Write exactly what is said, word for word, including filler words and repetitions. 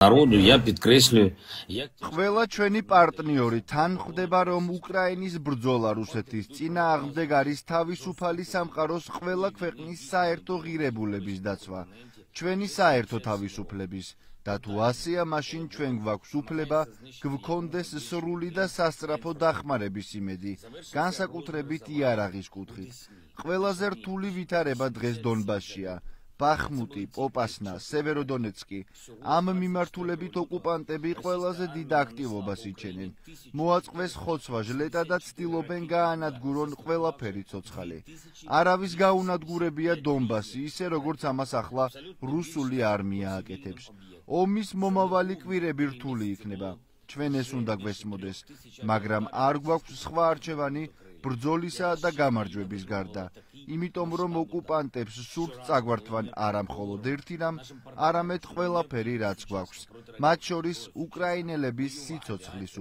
Народу я підкреслюю, як ყველა ჩვენი პარტნიორი თან ხვდება, რომ უკრაინის ბრძოლა რუსეთის წინააღმდეგ არის თავისუფალი სამყაროს ყველა ქვეყნის საერთო ღირებულების დაცვა, ჩვენი საერთო თავისუფლების და თუ ასეა, მაშინ ჩვენ გვაქვს უფლება გვქონდეს სრული და სასწრაფო დახმარების იმედი, განსაკუთრებით იარაღის კუთხით. ყველაზე რთული ვითარება დღეს დონბასშია. ბახმუტი, პოპასნა, სევეროდონეცკი. ამ მიმართულებით ოკუპანტები ყველაზე დიდ აქტივობას იჩენენ. მოაწყდეს ხოცვა ჟლეტა და ცდილობენ გაანადგურონ ყველაფერი ცოცხალი. არავის გაუნადგურებია დონბასი, ისე როგორც ამას ახლა რუსული არმია აკეთებს. ომის მომავალი კვირები რთული იქნება. ჩვენ ეს უნდა გვესმოდეს, მაგრამ არ გვაქვს სხვა არჩევანი ბრძოლისა და გამარჯვების გარდა. იმიტომ რომ ოკუპანტებს სურთ წაგვართვან არა მხოლოდ ერთი რამ, არამედ ყველაფერი რაც გვაქვს, მათ შორის უკრაინელების სიცოცხლის